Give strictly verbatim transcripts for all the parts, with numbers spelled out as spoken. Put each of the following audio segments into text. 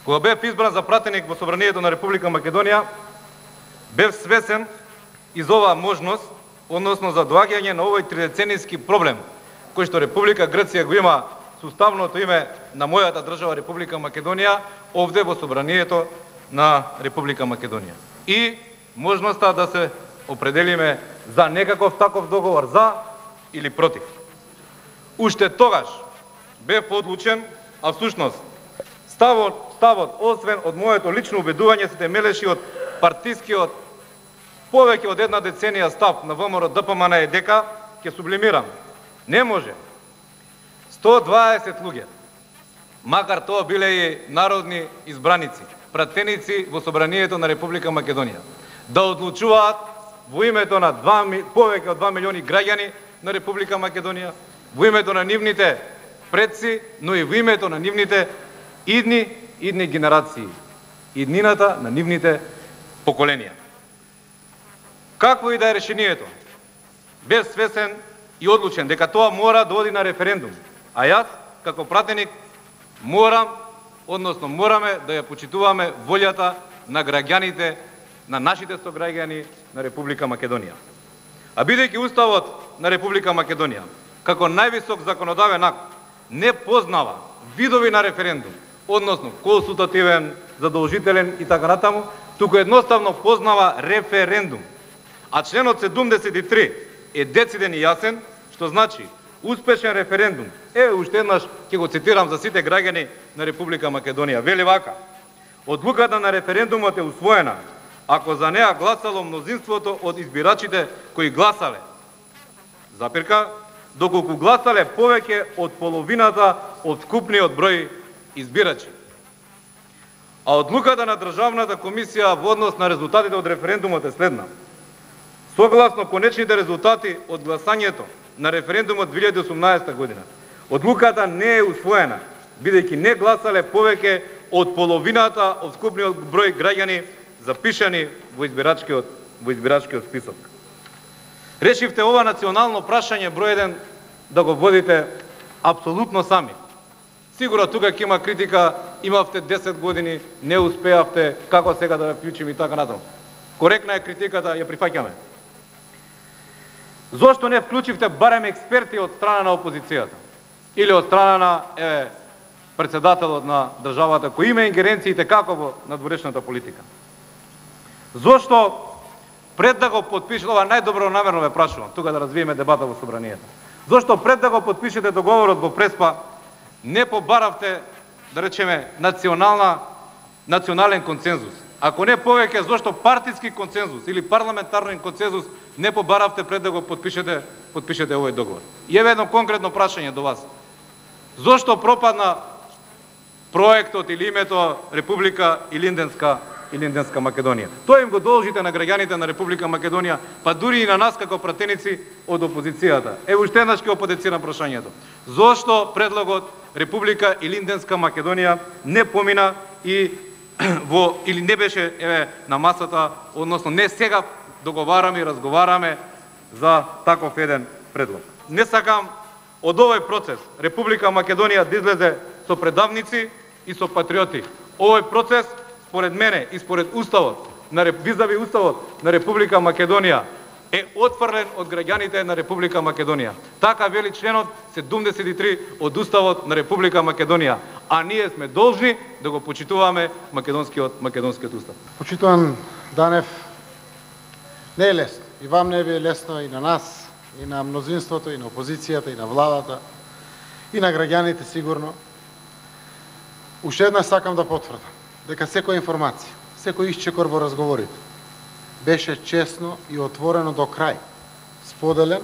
Кога бев избран за пратеник во Собранието на Република Македонија, бев свесен из оваа можност, односно за доаѓање на овој тридеценијски проблем, кој што Република Грција го има суставното име на мојата држава Република Македонија, овде во Собранието на Република Македонија. И можноста да се определиме за некаков таков договор, за или против. Уште тогаш бев одлучен, а всушност ставот, ставот освен од моето лично убедување, се темелеши од партискиот повеќе од една деценија став на ВМРО Д П М Н е дека, ќе сублимирам, не може сто дваесет луѓе, макар тоа биле и народни избраници, пратеници во Собранието на Република Македонија, да одлучуваат во името на два, повеќе од два милиони граѓани на Република Македонија, во името на нивните предци, но и во името на нивните идни, идни генерации, иднината на нивните поколенија. Какво и да е решението, бев свесен и одлучен дека тоа мора да оди на референдум, а јас, како пратеник, морам, односно мораме да ја почитуваме волјата на граѓаните, на нашите сограѓани на Република Македонија. А бидејќи Уставот на Република Македонија, како највисок законодавен акт, не познава видови на референдум, односно консултативен, задолжителен и така натаму, туку едноставно познава референдум. А членот седумдесет и три е дециден и јасен, што значи успешен референдум. Е, уште еднаш ќе го цитирам за сите граѓани на Република Македонија. Вели вака: одлуката на референдумот е усвоена ако за неа гласало мнозинството од избирачите кои гласале, запирка, доколку гласале повеќе од половината од вкупниот број избирачи. А одлуката на Државната комисија во однос на резултатите од референдумот е следна. Согласно конечните резултати од гласањето на референдумот две илјади и осумнаесета година, одлуката не е усвоена, бидејќи не гласале повеќе од половината од вкупниот број граѓани запишани во избирачкиот, во избирачкиот список. Решивте ова национално прашање број еден да го водите апсолутно сами. Сигурно тука ќе има критика, имавте десет години, не успеавте, како сега да ја вклучим и така натаму. Коректна е критиката, ја прифаќаме. Зошто не вклучивте барем експерти од страна на опозицијата? Или од страна на е, председателот на државата, кој има ингеренциите како во надворешната политика? Зошто пред да го подпишете, ова најдобро намерно ве прашувам, тука да развиеме дебата во Собранието. Зошто пред да го подпишете договорот во Преспа, не побаравте, да речеме, национална, национален консензус? Ако не повеќе, зошто партиски консензус или парламентарен консензус не побаравте пред да го подпишете, подпишете овој договор? И еве едно конкретно прашање до вас. Зошто пропадна проектот или името Република Илинденска Илинденска Македонија? Тоа им го должите на граѓаните на Република Македонија, па дури и на нас како пратеници од опозицијата. Ево уште еднаш ќе оподецирам прашањето. Зошто предлогот Република Илинденска Македонија не помина и во или не беше еве на масата, односно не сега договараме и разговараме за таков еден предлог. Не сакам од овој процес Република Македонија да излезе со предавници и со патриоти. Овој процес според мене и според уставот на визави уставот на Република Македонија е отфрлен од граѓаните на Република Македонија. Така вели членот седумдесет и три од уставот на Република Македонија, а ние сме должни да го почитуваме македонскиот македонскиот устав. Почитуван Данев, не е лесно. И вам не е лесно, и на нас, и на мнозинството, и на опозицијата, и на владата, и на граѓаните сигурно. Уште еднаш сакам да потврдам дека секоја информација, секој исчекор во разговорите беше честно и отворено до крај, споделен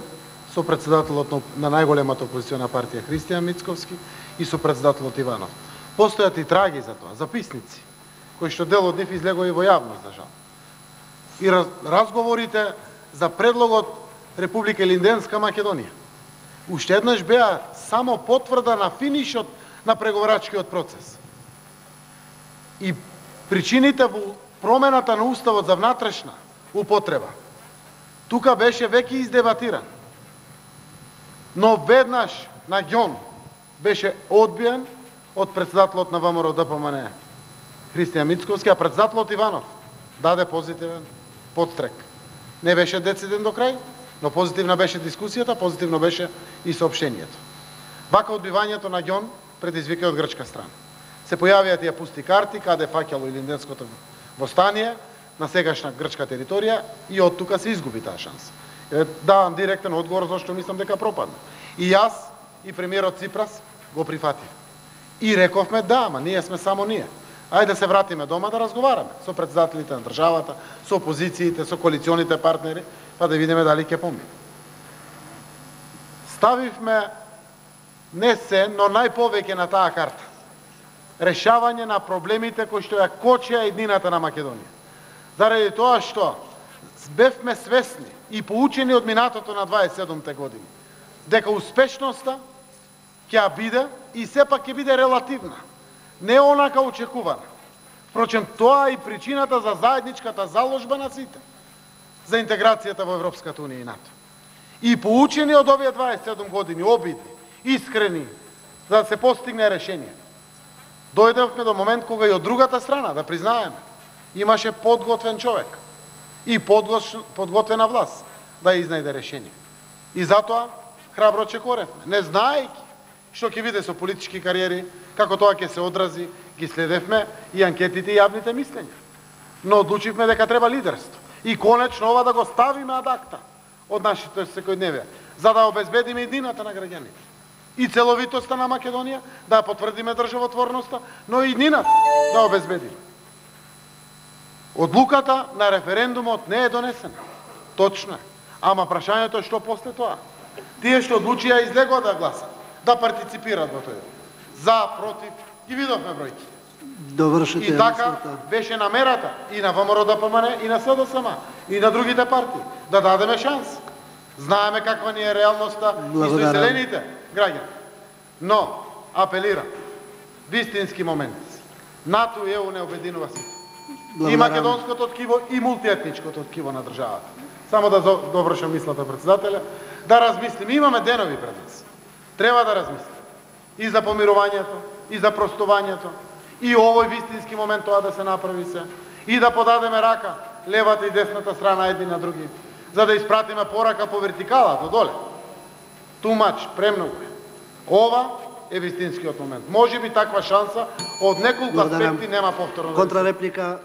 со председателот на најголемата опозициона партија Христијан Мицковски и со председателот Иванов. Постојат и траги за тоа, записници, кои што дел од нив излегоа и во јавност, за жал. И раз, разговорите за предлогот Република Илинденска Македонија уште еднаш беа само потврда на финишот на преговарачкиот процес. И причините во промената на уставот за внатрешна употреба тука беше веќе издебатиран. Но веднаш на ѓон беше одбиен од председателот на ВМРО Д П М Н. Христијан Мицковски, а председател од Иванов даде позитивен подстрек. Не беше дециден до крај, но позитивна беше дискусијата, позитивно беше и соопштението. Вака одбивањето на ѓон предизвика од грчка страна. Се појавија тие пусти карти, каде фаќало Илинденското востание на сегашна грчка територија и од тука се изгуби таа шанса. Давам директен одговор зашто мислам дека пропадна. И јас и премиерот Ципрас го прифатив. И рековме да, ама ние сме само ние. Ајде да се вратиме дома да разговараме со председателите на државата, со опозициите, со коалиционите партнери, па да видиме дали ќе помине. Ставивме не се, но најповеќе на таа карта решавање на проблемите кои што ја кочеа еднината на Македонија. Заради тоа што бевме свесни и поучени од минатото на дваесет и седумте години, дека успешноста ќе биде и сепак ќе биде релативна, не онака очекувана. Впрочем, тоа е и причината за заедничката заложба на сите за интеграцијата во Европската унија и НАТО. И поучени од овие дваесет и седум години, обидни, искрени, за да се постигне решение, дојдевме до момент кога и од другата страна, да признаеме, имаше подготвен човек и подготвена власт да изнајде решение. И затоа храбро чекоревме, не знаејќи што ќе биде со политички кариери, како тоа ќе се одрази, ги следевме и анкетите и јавните мислења. Но одлучивме дека треба лидерство. И конечно ова да го ставиме ад акта од нашите секојдневие, за да обезбедиме едината на граѓаните. И целовитоста на Македонија, да потврдиме државотворноста, но и еднината да обезбедиме. Одлуката на референдумот не е донесена. Точно е. Ама прашањето е што после тоа. Тие што одлучија излегоа да гласат, да партиципираат во тој. За, против, ги видовме бројки. Довршете. И така беше намерата и на ВМРО-ДПМН, и на СДСМ, и на другите партии, да дадеме шанс. Знаеме каква ни е реалноста и со иселените граѓани. Но, апелирам, вистински момент. НАТО и ЕУ не обединува сите. И македонското ткиво, и мултиетничкото ткиво на државата. Само да довршам мислата, председателя, да размислим. Имаме денови пред нас. Треба да размислим. И за помирувањето, и за простувањето, и овој вистински момент тоа да се направи се, и да подадеме рака, левата и десната страна едни на други, за да испратиме порака по вертикала, до доле. Тумач, премногу е. Ова е вистинскиот момент. Може би таква шанса од неколку аспекти нема повторно. Контрареплика.